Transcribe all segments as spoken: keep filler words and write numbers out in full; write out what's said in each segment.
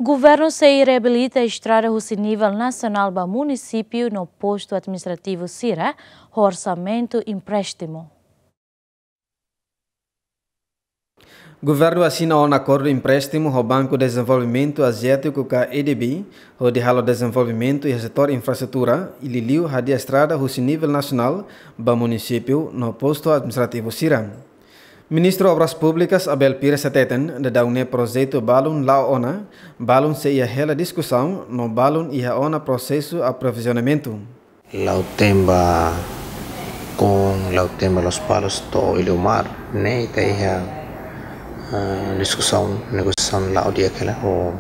Governu sei reabilita estrada husi nivel nasionál ba munisípiu no postu administrativu sira, ho orsamentu empréstimu. Governu asina ona akordu empréstimu ho Banku Dezenvolvimentu Aziátiku ka A D B, hodi halo dezenvolvimentu iha setór infraestrutura, i liuliu hadi'a estrada husi nivel nasionál ba munisípiu no postu administrativu sira. Ministru Obras Públikas Abel Pires hateten, daudaun ne'e projetu balun la'o ona, balun sei iha hela diskusaun no balun iha ona prosesu aprovizionamentu. Lautém ba Koon, Lautém ba Lospalos to'o Iliomar, ne'e ita iha, eh, diskusaun, negosiasaun la'o di'ak hela ho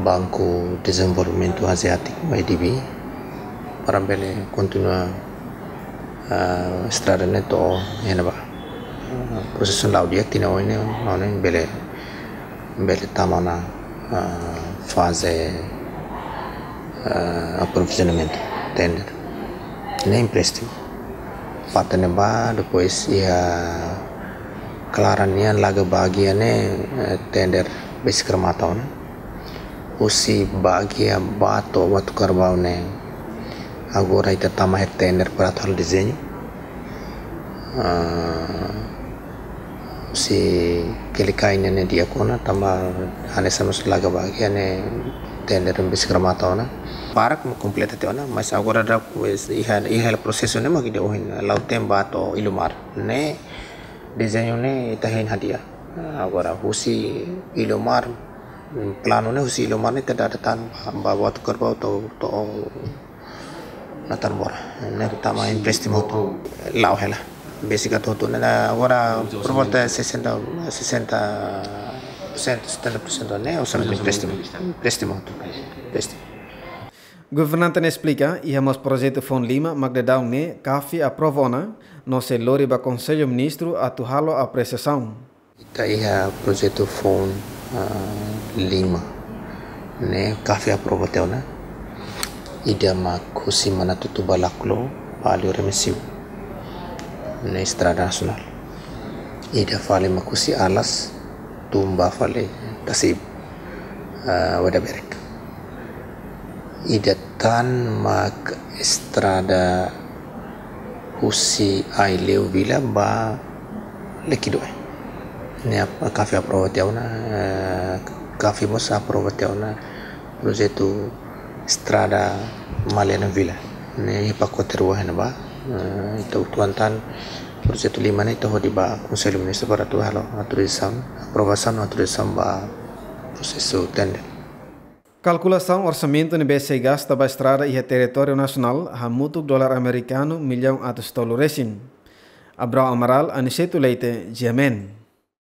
Banku Dezenvolvimentu Aziátiku, A D B, para bele kontinua, eh, estrada ne'e to'o iha ne'ebá. Eh, prosesu la'o di'ak, tinan oin ne'e, maun ne'e bele, bele tama ona, eh, faze, eh, aprovizionamentu, tender. Ne'e empréstimu. Parte ne'ebá, depois iha Klaran nian, Laga Bagia ne'e, eh, tender besik remata ona. Husi Bagia ba to'o Batu Karbau ne'e, agora ita tama iha tender para atu halo dezeñu. Ah, husi Kelikai ne'e, ne'e di'ak ona, tanba hanesan mós Laga Bagia ne'e tender besik remata ona. Barak mak kompleta tiha ona, mas agora daudaun iha, iha prosesu ne'e mak ida ohin, Lautém ba to'o Iliomar. Ne'e dezeñu ne'e ita hein hadi'a. Agora husi Iliomar, planu ne'e husi Iliomar ne'e ita dada tan ba, ba Batu Karbau to'o, to'o Natarbora. Ne'e tama empréstimu hotu. La'o hela. Besik atu hotu ne'e, agora por volta sessenta, sessenta por cento, setenta por cento ne'e orsamentu empréstimu. Empréstimu hotu. Empréstimu. Governante ne'e esplika, iha mós projetu foun lima mak daudaun ne'e CAFI aprova ona, no sei lori ba Konsellu Ministru atu halo apresiasaun. Ita iha projetu foun, ah, lima ne'e CAFI aprova tiha ona. Ida mak husi Manatutu ba Laclo, Palio Remexio. Ne'e estrada nasionál. Ida fali mak husi Alas tun ba fali Tasibu, ah, Weda Berek. Ida tan mak estrada husi Aileu Vila ba Liquidoe. Ne'e ap-, CAFI aprova tiha ona, eh, CAFI mós aprova tiha ona projetu estrada Maliana Vila. Ne'e iha pakote rua iha ne'ebá. Eh, ita uitoan tan projetu lima ne'e ita hodi ba Konsellu Ministru para atu halo autorizasaun, aprovasaun no autorizasaun ba prosesu tender. Kalkulasaun orsamentu ne'ebé sei gasta ba estrada iha territóriu nasionál hamutuk dolar amerikanu millaun atus tolu resin. Abrão Amaral, Aniceto Leite, G M N.